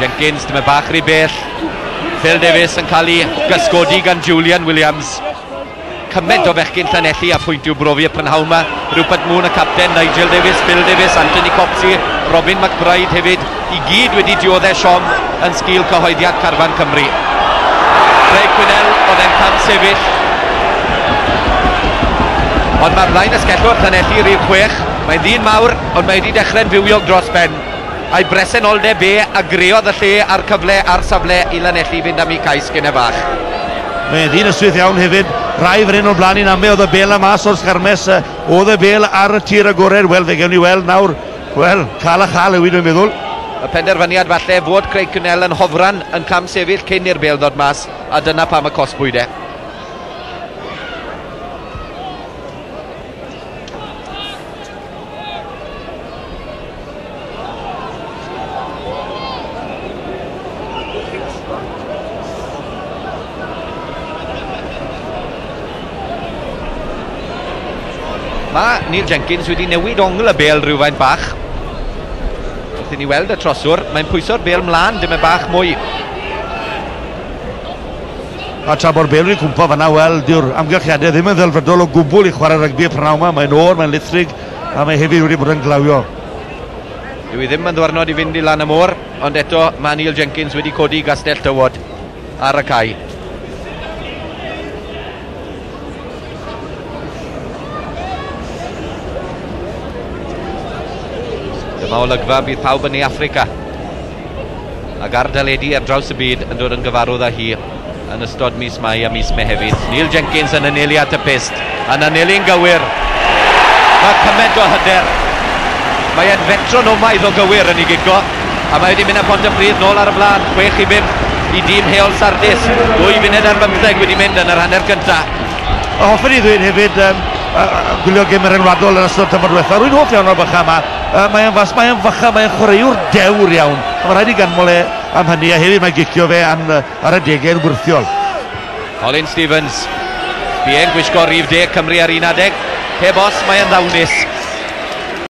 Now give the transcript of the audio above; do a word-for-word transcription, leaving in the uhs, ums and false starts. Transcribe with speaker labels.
Speaker 1: Jenkins, dyma bach rhy bell. Phil Davies yn cael ei gysgodi gan Julian Williams. Cymaint o fechgyn Llanelli a phwynt i'w brofi y prynhawn yma. Rupert Moon, y capten, Nigel Davies, Phil Davies, Anthony Copsey, Robin McBride hefyd, i gyd wedi dioddef siom yn sgil cyhoeddiad carfan Cymru. Craig Quinnell oedd e'n cam sefyll. Ond mae'r blaen asgellwr Llanelli rhif chwech. Mae'n ddyn mawr, ond mae wedi dechrau'n fywiog dros ben. A'i bresenoldeb e a greodd y lle a'r cyfle a'r safle i Lanelli fynd am ei cais gynne fach.
Speaker 2: Mae'n ddyn ystwyth iawn hefyd. Rai fan hyn o'r blaen i'n ame, oedd y bel am mas o'r sgarmes, oedd y bel ar y tir agored. Wel, fe gewn ni weld nawr. Wel, cael a chael yw i, dwi'n meddwl.
Speaker 1: Y penderfyniad falle fod Craig Quinnell yn hofran yn cam sefyll cyn i'r bel ddod mas, a dyna pam y cosbwyd e. Mae Neil Jenkins wedi newid ongl y bel rhywfaint bach. Wrth i ni weld y troswr, mae'n pwyso'r bel mlaen, dim y bach mwy.
Speaker 2: A tra bo'r bel wedi cwmpo fan'na, wel, dyw'r amgylchiadau ddim yn ddelfrydol o gwbl i chwarae rygbi y prynhawn yma. Mae'n oer, mae'n lithrig, a mae hefyd wedi bod yn glawio.
Speaker 1: Dyw i ddim yn ddwrnod i fynd i lan y môr, ond eto mae Neil Jenkins wedi codi gastell tywod ar y cae. Dyma olygfa bydd pawb yn ei Affrica ac ar deledu ar draws y byd yn dod yn gyfarwydd â hi yn ystod mis Mai a mis Mehefin. Neil Jenkins yn anelu at y pyst, yn anelu'n gywir. Mae cymaint o hyder. Mae e'n fetronomaidd o gywir yn ei gico, a mae wedi mynd â Pontypridd nôl ar y blaen, chwech i bump i dîm Heol Sardis. Dwy funud ar bymtheg wedi mynd yn yr hanner cyntaf.
Speaker 2: A hoffwn i ddweud hefyd, um, uh, gwylio gêm yr enwadol yn ystod tymor diwetha, rwy'n hoff iawn o'r bycha yma. Uh, mae'n fas, mae'n fycha, mae'n chwaraewr dewr iawn. A mae rhaid i ganmol e am hynny, a hefyd mae gicio fe an, ar y degau yn wyrthiol.
Speaker 1: Colin Stevens, bu e'n gwisgo rhif deg Cymru ar un adeg. Heb os, mae'n ddawnus.